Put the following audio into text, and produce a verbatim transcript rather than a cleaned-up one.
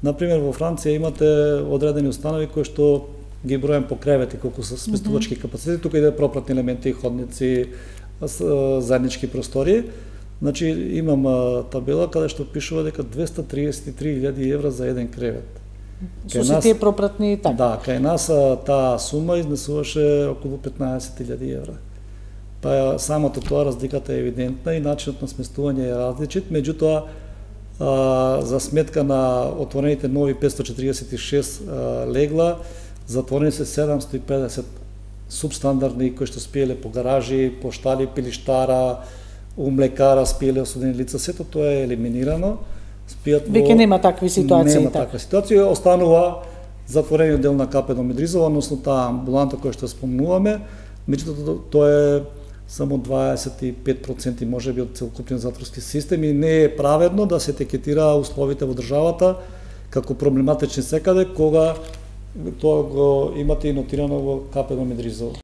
Например, во Франција имате одредени установи кои што ги бројам по кревети, колку се сместувачки капацитети, тука иде пропратни елементи, ходници, заеднички простории. Значи, имам табела каде што пишува дека двесте триесет и три илјади евра за еден кревет. Со се тие пропратни така? Да, кај нас таа сума изнесуваше околу петнаесет илјади евра. Па самото тоа разликата е евидентна и начинот на сместување е различит, меѓутоа за сметка на отворените нови петстотини четиридесет и шест легла, затворени се седумстотини и педесет субстандардни кои што спиеле по гаражи, по штали, пилиштара, у млекара спиеле осудени лица, сето тоа е елиминирано. Спијат во... Веќе нема такви ситуации. Нема таква ситуација, останува затворениот дел на КП Домидризова, односно таа амбуланта која што спомнуваме, меѓутоа тоа е само дваесет и пет проценти можеби од целокупниот затворски систем и не е праведно да се етикетира условите во државата како проблематични секаде, кога тоа го имате и нотирано во КП Домидризова.